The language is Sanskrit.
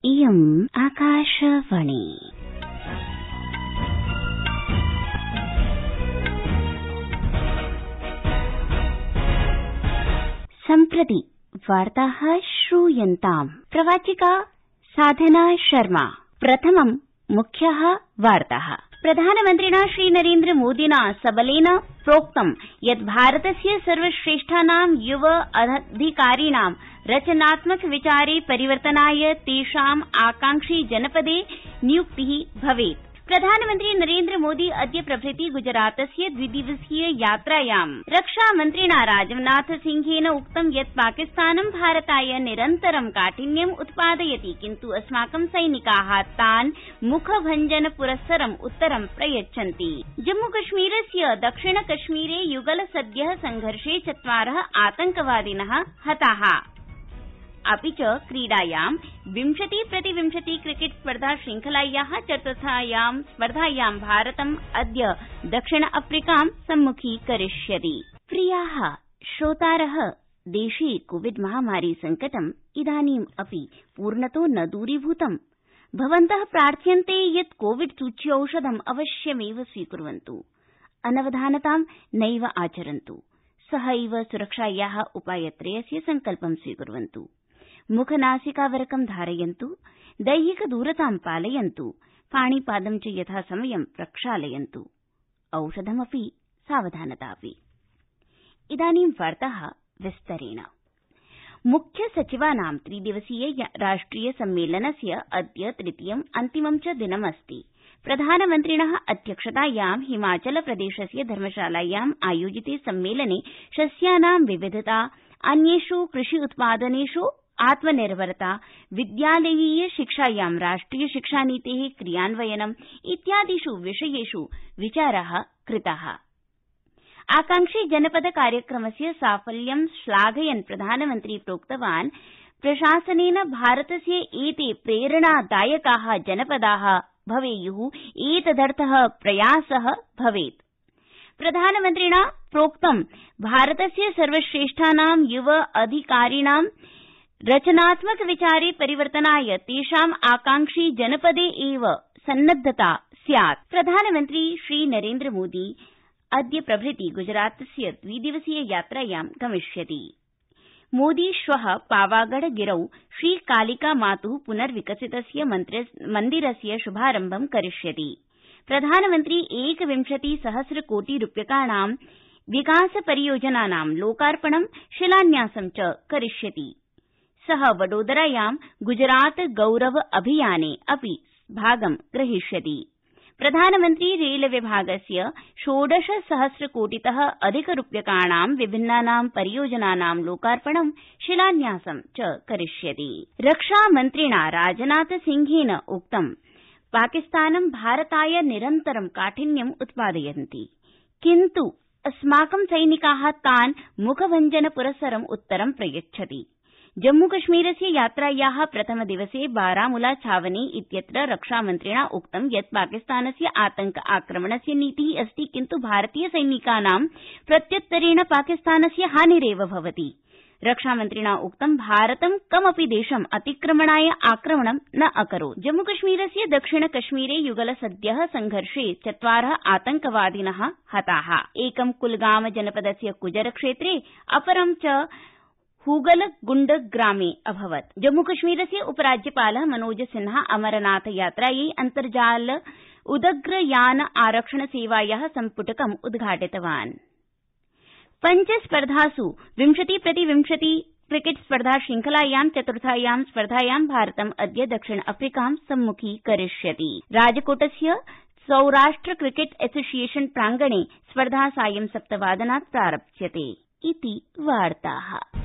इयम् आकाशवाणी। सम्प्रति वार्ताः श्रूयन्ताम्। प्रवाचिका साधना शर्मा। प्रथमं मुख्याः वार्ताः। प्रधानमन्त्रिणा श्रीनरेन्द्र मोदिना सबलेन प्रोक्तं यत् भारतस्य सर्वश्रेष्ठानां युव अधिकारिणां रचनात्मक विचारे परिवर्तनाय तेषाम् आकांक्षी जनपदे नियुक्तिः भवेत्। प्रधानमन्त्री नरेन्द्र मोदी अद्य प्रभृति गुजरातस्य द्विदिवसीय यात्रायां रक्षामन्त्रिणा राजनाथ सिंहेन उक्तं यत् पाकिस्तानं भारताय निरन्तरं काठिन्यम् उत्पादयति, किन्तु अस्माकं सैनिकाः तान् मुखभञ्जनपुरस्सरम् उत्तरं प्रयच्छन्ति। जम्मूकश्मीरस्य दक्षिणकश्मीरे युगल सद्यः संघर्षे 4 आतंकवादिनः हताः। अपि च क्रीडायां 20-20 क्रिकेट स्पर्धा श्रृंखलायाः चतुर्थायां स्पर्धायां भारतम् अद्य दक्षिण अफ्रीकां सम्मुखीकरिष्यति। प्रियाः श्रोतारः, देशे कोविड महामारी संकटम् इदानीम् अपि पूर्णतो न दूरीभूतम्। भवन्तः प्रार्थ्यन्ते यत् कोविड सूच्यौषधम् अवश्यमेव स्वीकुर्वन्तु, अनवधानतां नैव आचरन्तु, सहैव सुरक्षायाः उपायत्रयस्य संकल्पं स्वीकुर्वन्तु। मुखनासिकावरकं धारयन्तु, दैहिकदूरतां पालयन्तु, पाणिपादं च यथासमयं प्रक्षालयन्तु, औषधमपि सावधानतापि। इदानीं वार्ताः विस्तरेण। मुख्यसचिवानां 3-दिवसीय राष्ट्रिय सम्मेलनस्य अद्य तृतीयम् अन्तिमं च दिनमस्ति। प्रधानमन्त्रिणः अध्यक्षतायां हिमाचलप्रदेशस्य धर्मशालायाम् आयोजिते सम्मेलने सस्यानां विविधता, अन्येषु कृषि उत्पादनेषु आत्मनिर्भरता, विद्यालयीय शिक्षायां राष्ट्रिय शिक्षानीतेः क्रियान्वयनम् इत्यादिषु विषयेषु विचाराः कृताः। आकांक्षी जनपद कार्यक्रमस्य साफल्यं श्लाघयन् प्रधानमन्त्री प्रोक्तवान्, प्रशासनेन भारतस्य एते प्रेरणादायकाः जनपदाः भवेयुः, एतदर्थः प्रयासः भवेत्। प्रधानमन्त्रिणा प्रोक्तं, भारतस्य सर्वश्रेष्ठानां युव अधिकारिणां रचनात्मक विचारे परिवर्तनाय तेषाम् आकांक्षी जनपदे एव सन्नद्धता स्यात्। प्रधानमन्त्री श्रीनरेन्द्र मोदी अद्य प्रभृति गुजरातस्य 2-दिवसीय यात्रायां गमिष्यति। मोदी श्वः पावागढ़ गिरौ श्रीकालिकामातुः पुनर्विकसितस्य मन्दिरस्य शुभारम्भं करिष्यति। प्रधानमन्त्री 21,000,कोटिरूप्यकाणां विकासपरियोजनानां लोकार्पणं शिलान्यासं च करिष्यति। सः वडोदरायां गुजरात गौरव अभियाने अपि भागं ग्रहीष्यति। प्रधानमन्त्री रेलविभागस्य 16,000,कोटितः अधिकरूप्यकाणां विभिन्नानां परियोजनानां लोकार्पणं शिलान्यासं च करिष्यति। रक्षामन्त्रिणा राजनाथ सिंहेन उक्तं, पाकिस्तानं भारताय निरन्तरं काठिन्यम् उत्पादयन्ति, किन्तु अस्माकं सैनिकाः तान् मुखभञ्जनपुरस्सरम् उत्तरं प्रयच्छति। जम्मूकश्मीरस्य यात्रायाः प्रथमदिवसे बारामुला छावनी इत्यत्र रक्षामन्त्रिणा उक्तं यत् पाकिस्तानस्य आतंक आक्रमणस्य नीतिः अस्ति, किन्तु भारतीय सैनिकानां प्रत्युत्तरेण पाकिस्तानस्य हानिरेव भवति। रक्षामन्त्रिणा उक्तं, भारतं कमपि देशम् अतिक्रमणाय आक्रमणं न अकरोत्। जम्मूकश्मीरस्य दक्षिणकश्मीरे युगल सद्यः संघर्षे 4 आतंकवादिनः हताः। एकं कुलगाम जनपदस्य कुजर क्षेत्रे, अपरं च हुगलगुण्ड ग्रामे अभवत्। जम्मूकश्मीरस्य उपराज्यपालः मनोज सिन्हा अमरनाथ यात्रायै अन्तर्जाल उदग्रयान आरक्षण सेवायाः सम्पुटकम् उद्घाटितवान्। 5 स्पर्धासु 20-20 क्रिकेट स्पर्धा श्रृंखलायां चतुर्थायां स्पर्धायां भारतम् अद्य दक्षिण अफ्रीकां सम्मुखीकरिष्यति। राजकोटस्य सौराष्ट्र क्रिकेट एसोसिएशन प्रांगणे स्पर्धा सायं 7 वादनात् प्रारप्स्यते। इति वार्ताः।